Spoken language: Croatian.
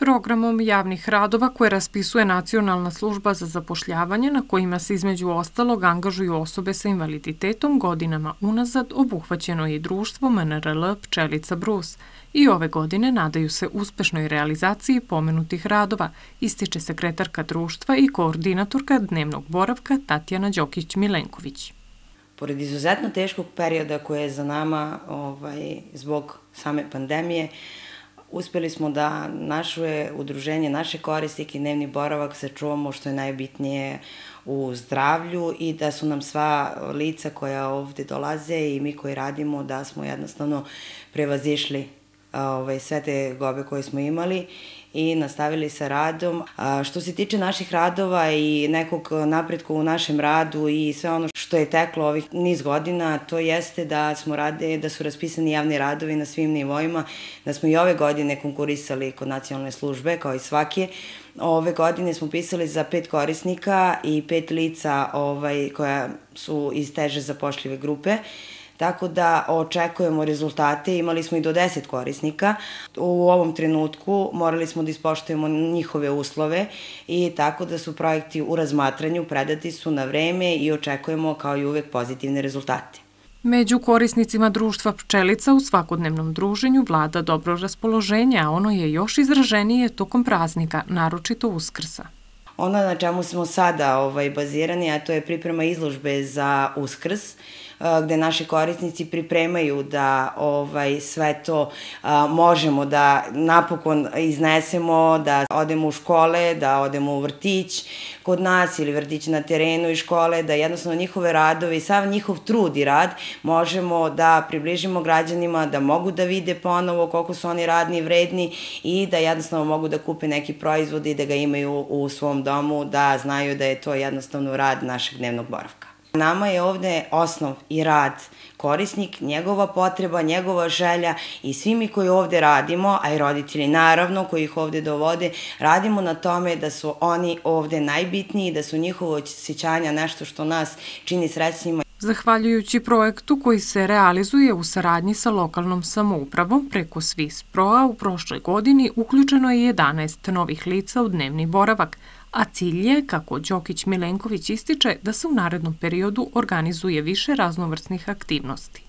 Programom javnih radova koje raspisuje Nacionalna služba za zapošljavanje, na kojima se između ostalog angažuju osobe sa invaliditetom, godinama unazad obuhvaćeno je i društvo MNRL Pčelica Brus i ove godine nadaju se uspešnoj realizaciji pomenutih radova, ističe sekretarka društva i koordinatorka dnevnog boravka Tatjana Đokić-Milenković. Pored izuzetno teškog perioda koje je za nama zbog same pandemije, uspeli smo da naše udruženje, naše korisnike i dnevni boravak sačuvamo što je najbitnije u zdravlju i da su nam sva lica koja ovde dolaze i mi koji radimo da smo jednostavno prevazišli sve te gobe koje smo imali i nastavili sa radom. Što se tiče naših radova i nekog napretka u našem radu i sve ono što je teklo ovih niz godina, to jeste da su raspisani javni radovi na svim nivoima, da smo i ove godine konkurisali kod nacionalne službe, kao i svake. Ove godine smo pisali za 5 korisnika i 5 lica koja su iz teže zapošljive grupe. Tako da očekujemo rezultate, imali smo i do 10 korisnika. U ovom trenutku morali smo da ispoštujemo njihove uslove i tako da su projekti u razmatranju, predati su na vreme i očekujemo kao i uvek pozitivne rezultate. Među korisnicima društva Pčelica u svakodnevnom druženju vlada dobro raspoloženje, a ono je još izraženije tokom praznika, naročito Uskrsa. Ono na čemu smo sada bazirani, a to je priprema izložbe za Uskrs, gde naši korisnici pripremaju da sve to možemo da napokon iznesemo, da odemo u škole, da odemo u vrtić kod nas ili vrtić na terenu i škole, da jednostavno njihove radove i sav njihov trud i rad možemo da približimo građanima, da mogu da vide ponovo koliko su oni radni i vredni i da jednostavno mogu da kupe neki proizvod i da ga imaju u svom domu, da znaju da je to jednostavno rad našeg dnevnog boravka. Nama je ovde osnov i rad korisnik, njegova potreba, njegova želja i svi mi koji ovde radimo, a i roditelji naravno koji ih ovde dovode, radimo na tome da su oni ovde najbitniji, da su njihovo osjećanja nešto što nas čini srećnima. Zahvaljujući projektu koji se realizuje u saradnji sa lokalnom samoupravom preko Swiss Pro-a u prošloj godini uključeno je 11 novih lica u dnevni boravak, a cilj je, kako Đokić-Milenković ističe, da se u narednom periodu organizuje više raznovrsnih aktivnosti.